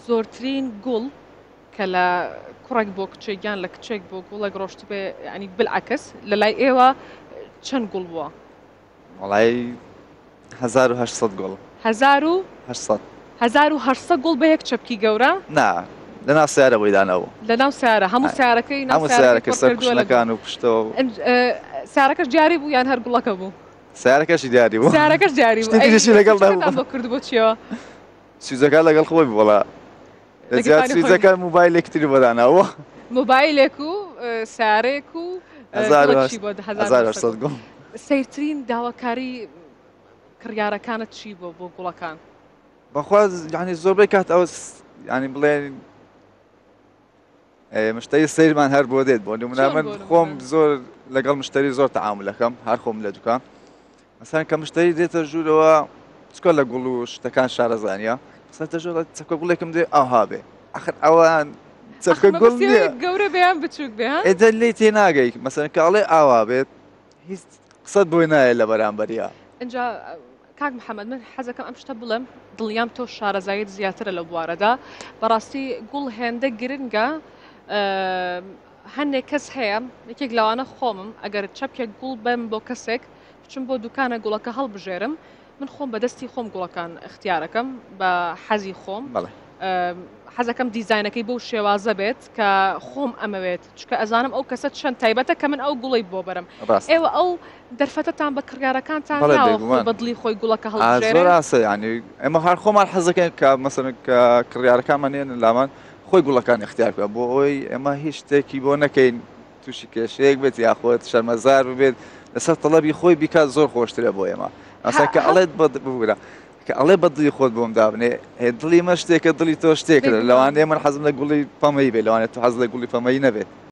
زۆرترین گوڵ کە لە کوڕێک بۆ کچێک یان لە کچێک بۆ گوڵێک ڕۆشتبێ ینی بالعکس لە لای ئێوە چەند گوڵ بووە؟ وەڵای 1800 گوڵ. 1800. 1800 گوڵ بە یەک چەپکی گەورە؟ نا لەناو سیارە بۆی دانابوو. لەناو سیارە هەموو سیارەکەی ناو هەموو سیارەکە سەر کوشنەکان و پشتەوە. سیارەکەش دیاری بوو یان هەر گوڵەکە بوو؟ سیارەکەشی دیاری بوو. سیارەکەش دیاری بوو. شتێکی تریشی لەگەڵ نەبوو. بۆ کرد بۆ چیەوە؟ سویجەکە لەگەڵ خۆی بوو وەڵا. لە جیات سویجەکە موبایلێکی تری بۆ داناوە. موبایلێک و سیارەیەک و 1800 گوڵ. سەیرترین داواکاری کڕیارەکانت چی بوو بۆ گوڵەکان؟ بەخوا یعنی زۆربەی کات ئەوە یعنی بڵێن مشتری سەیرمان هەر بۆ دێت بۆ نمونە من خۆم زۆر لەگەڵ مشتری زۆر تەعاملەکەم هەر خۆم لە دوکان مەسەن کە مشتری دێتە ژوورەوە چکە لە گوڵ و شتەکان شارەزانە سەتە ژۆ چەکە گوڵێکم دێ ئاها بێ ئەخر ئەوان چەکە گوڵ گەورە بێیان بچووک بێ ئێدە لێ تێ ناگەیت مەسەن کاڵێ ئاوا بێت هیچ قسەت بۆی نایە لە بەرامبەریا. ئینجا کاک محەمەد من حەزەکەم ئەم شتە بڵێم دڵنیام تۆ شارەزاییت زیاترە لەو بوارەدا بەڕاستی گوڵ هێندە گرنگە هەندێک کەس هەیە یەکێک لەوانە خۆمم ئەگەر چەپکێک گوڵ بەم بۆ کەسێک بچم بۆ دوکانە گوڵەکە هەڵبژێرم من خۆم بەدەستی خۆم گوڵەکان اختیارەکەم بە حەزی خۆم حەزەکەم دیزاینەکەی بەو شێوازە بێت کە خۆم ئەمەوێت چونکە ئەزانم ئەو کەسە چەند تایبەتە کە من ئەو گوڵەی بۆ بەرم ڕاستە. ئێوە ئەو دەرفەتەتان بە کڕیارەکانتان بەڵێ ناوە خۆی بێگومان. بە دڵی خۆی گوڵەکە ئا هەڵبژێرێ؟ زۆر ئاسە یانی ئێمە هەر خۆمان حەزەکەین کە مەسەلەن کە کڕیارەکانمان یەنە لامان خۆی گوڵەکان ئیختیار بکا بۆ ئەوەی ئێمە هیچ شتێکی بۆ نەکەین تووشی کێشەیەک بێت یاخود شەرمەزار ببێت لەسەر تەڵەبی خۆی بیکات زۆر خۆشترە بۆ ئێمە هە مەسەلەن کە هە ئەڵێت بە ببورە کە ئەڵێ بە دڵی خۆت بۆم دابنێ ئێ دڵی من شتێکە دڵی تۆ شتێکە بێگومان. لەوانەیە من حەزم لە گوڵی پەمەیی بێت لەوانەیە تۆ حەزت لە گوڵی پەمەیی نەبێت.